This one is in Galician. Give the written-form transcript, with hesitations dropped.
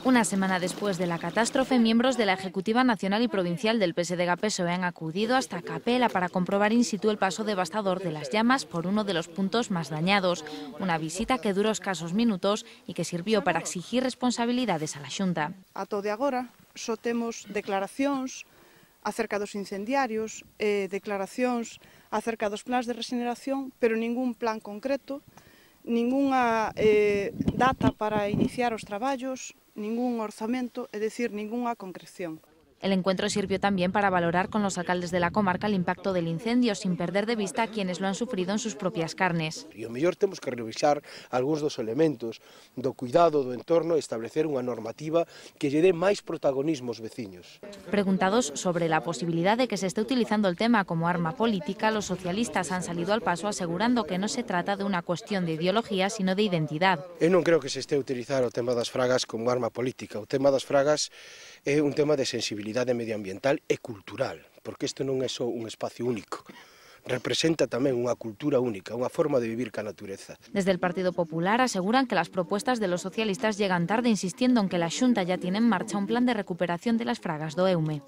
Una semana después de la catástrofe, miembros de la Ejecutiva Nacional y Provincial del PSDG-PSOE han acudido hasta Capela para comprobar in situ el paso devastador de las llamas por uno de los puntos más dañados. Una visita que duró escasos minutos y que sirvió para exigir responsabilidades a la Xunta. Ata o de agora só temos declaracións acerca dos incendiarios, declaracións acerca dos plans de regeneración, pero ningún plan concreto, ningunha data para iniciar os traballos, ningún orzamento, é dicir, ningunha concreción. El encuentro sirvió también para valorar con los alcaldes de la comarca el impacto del incendio, sin perder de vista a quienes lo han sufrido en sus propias carnes. E o mellor temos que revisar algúns dos elementos do cuidado do entorno e establecer unha normativa que lle dé máis protagonismo aos veciños. Preguntados sobre la posibilidad de que se esté utilizando el tema como arma política, los socialistas han salido al paso asegurando que no se trata de una cuestión de ideología, sino de identidad. Eu non creo que se este a utilizar o tema das fragas como arma política. O tema das fragas é un tema de sensibilidade medioambiental e cultural, porque isto non é só un espacio único. Representa tamén unha cultura única, unha forma de vivir ca natureza. Desde el Partido Popular aseguran que las propuestas de los socialistas llegan tarde, insistiendo en que la Xunta ya tiene en marcha un plan de recuperación de las fragas do Eume.